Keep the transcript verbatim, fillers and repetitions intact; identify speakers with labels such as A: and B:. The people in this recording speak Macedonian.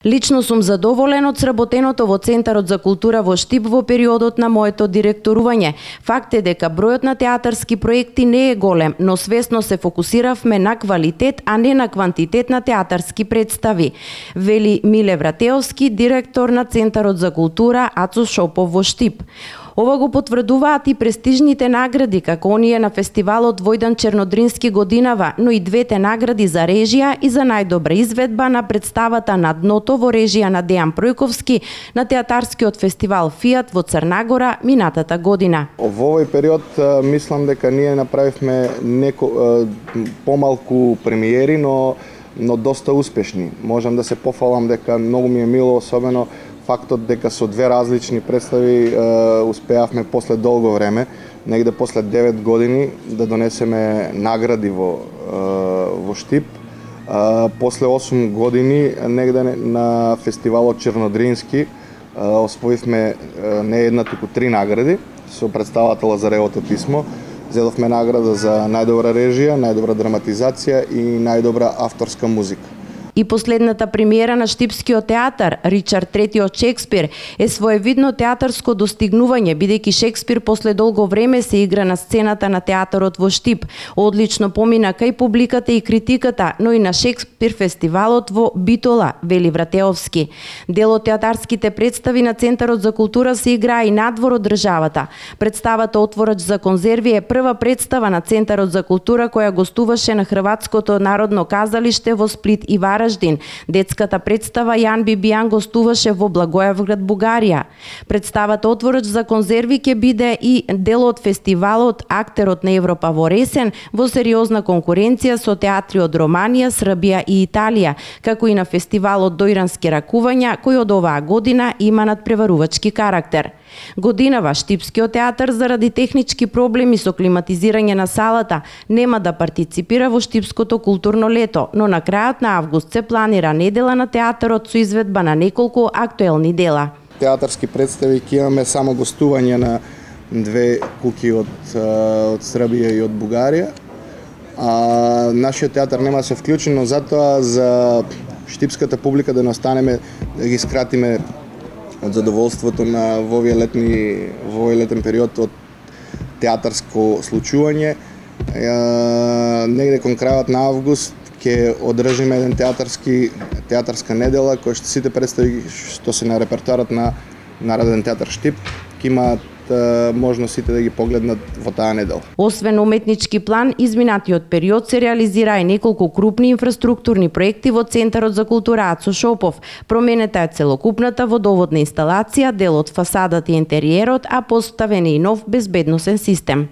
A: Лично сум задоволен од сработеното во Центарот за култура во Штип во периодот на моето директорување. Факт е дека бројот на театарски проекти не е голем, но свесно се фокусиравме на квалитет, а не на квантитет на театарски представи, вели Миле Вратеовски, директор на Центарот за култура Ацо Шопов во Штип. Ова го потврдуваат и престижните награди, како оние на фестивалот Војдан Чернодрински годинава, но и двете награди за режија и за најдобра изведба на представата На дното во режија на Дејан Пројковски на театарскиот фестивал Фијат во Црнагора минатата година.
B: Во овој период мислам дека ние направивме неко помалку премиери, но но доста успешни. Можам да се пофалам дека многу ми е мило, особено фактот дека со две различни представи е, успеавме после долго време, негде после девет години, да донесеме награди во, е, во Штип. Е, после осум години, негде на фестивалот Чернодрински, е, освоивме не една, туку три награди со представата Лазаревото писмо. Зедовме награда за најдобра режија, најдобра драматизација и најдобра авторска музика.
A: И последната премиера на Штипскиот театар, Ричард трети од Шекспир, е своевидно театарско достигнување, бидејќи Шекспир после долго време се игра на сцената на театарот во Штип. Одлично помина кај публиката и критиката, но и на Шекспир фестивалот во Битола, вели Вратеовски. Дел од театарските представи на Центарот за култура се играа и надвор од државата. Представата Отворач за конзерви е прва представа на Центарот за култура која гостуваше на Хрватското народно казалиште во Сплит и Вараждин. Детската представа Јан Бибијан гостуваше во Благоевград, Бугарија. Представата Отворач за конзерви ќе биде и дел од фестивалот Актерот на Европа во Ресен во сериозна конкуренција со театри од Романија, Србија и Италија, како и на фестивалот Дојрански ракувања, кој од оваа година има надпреварувачки карактер. Годинава Штипскиот театар заради технички проблеми со климатизирање на салата нема да партиципира во Штипското културно лето, но на крајот на август се планира недела на театарот со изведба на неколку актуелни дела.
B: Театарски представи ќе имаме само гостување на две куки од, од Србија и од Бугарија. А, нашиот театар нема да се вклучи, но затоа за штипската публика да не останеме, да ги скратиме од задоволството на во овие летни во овој летен период од театарско случување. Е, негде кон крајот на август ќе одржиме еден театарски театарска недела која што сите представи што се на репертоарот на Народен театар Штип ќе имаат можност сите да ги погледнат во таа недела.
A: Освен уметнички план, изминатиот период се реализира и неколку крупни инфраструктурни проекти во Центарот за култура Ацо Шопов. Променета е целокупната водоводна инсталација, дел од фасадата и интериерот, а поставен е и нов безбедносен систем.